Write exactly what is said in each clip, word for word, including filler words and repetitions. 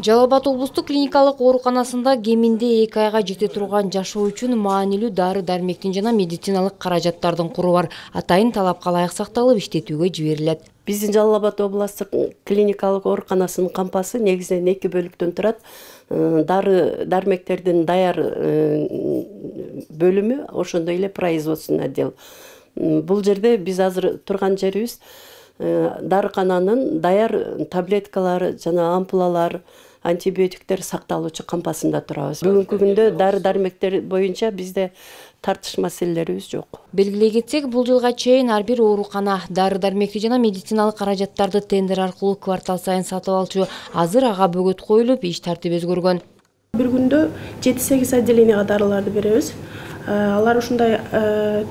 Жалал Абад облустук клиникалык ооруканасында кеминде эки айга жете турган жашоо үчүн маанилүү дары-дармектин жана медициналык каражаттардын куру бар. Атайын талапка ылайык сакталып иштетүүгө жиберилет. Биздин Жалал Абад облустук клиникалык ооруканасынын кампасы негизинен эки бөлүктөн турат. Дары дармектердин даяр бөлүмү, ошондой эле производственный отдел. Бул жерде биз азыр турган жерибиз дарыкананын даяр таблеткалар жана ампулалар, антибиотиктер сакталуучу кампасында турабыз. Бүгүнкү күндө дары дармектер боюнча бизде тартыш маселелерибиз жок. Белгилей кетсек, бул жылга чейин ар бир оорукана дары дармекти жана медициналык каражаттарды тендер аркылуу квартал сайын сатып алчу. Азыр ага бөгөт коюлуп, иш тартиби өзгөргөн. Бир күндө жети-сегиз отделенияга дарыларды беребиз. Алар ушундай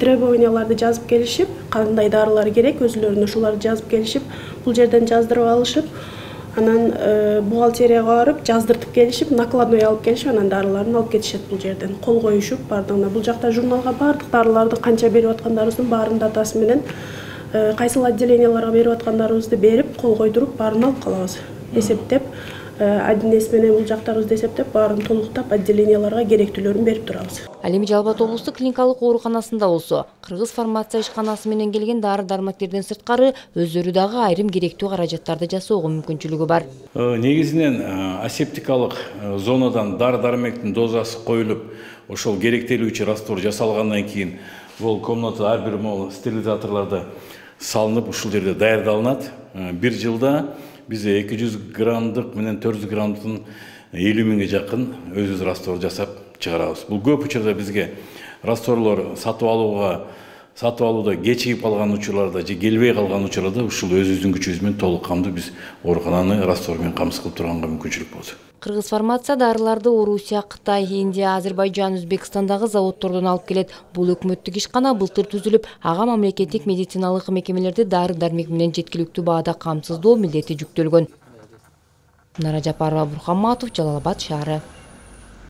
требованияларды жазып келишип, кандай дарылар керек, өзүлөрүнө ушуларды жазып келишип, бул жерден жаздырып алышып, анан бухгалтерияга барып жаздыртып келишип, накладной алып келишип, анан дарыларын алып кетишет бул жерден. Кол коюшуп бардыгына. Бул жакта журналга бардык дарыларды канча берип аткандарыбыздын баарын датасы менен кайсыл отделенияларга берип аткандарыбызды берип, кол койдуруп, баарын алып калабыз. Эсептеп, адинес менен бул жактарыбызды эсептеп, баарын толуктап, отделенияларга керектүүлөрүн берип турабыз. Ал эми Жалал Абад облустук клиникалык ооруканасында болсо, кыргыз фармация ишканасы менен келген дары-дармектерден сырткары өздөрү дагы айрым керектүү каражаттарды жасоого мүмкүнчүлүгү бар. Негизинен асептикалык зонадан дары-дармектин дозасы коюлуп, ошол керектелүүчү раствор жасалгандан кийин бул комната ар бир могул стерилизаторлордо салынып, ушул жерде даярдалынат. Бир жылда бизде эки жүз граммдык менен төрт жүз граммдын элүү миңге жакын өзүбүз раствор жасап чыгарабыз. Бул көп учурда бизге растворлор сатып алууга, сатып алууда кечигип калган учурларда же келбей калган учурларда ушул өзүбүздүн күчүбүз менен толук камдуу биз оорукананы раствор менен камсыз кылып турганга мүмкүнчүлүк болду. Кыргыз фармация дарыларды Орусия, Кытай, Индия, Азербайджан, Өзбекстандагы заводдордон алып келет. Бул өкмөттүк ишкана былтыр түзүлүп, ага мамлекеттик медициналык мекемелерди дары-дармек менен жеткиликтүү баада камсыздоо милдети жүктөлгөн. Нара Жапарова, Бурхан Матов, Жалал Абад шаары.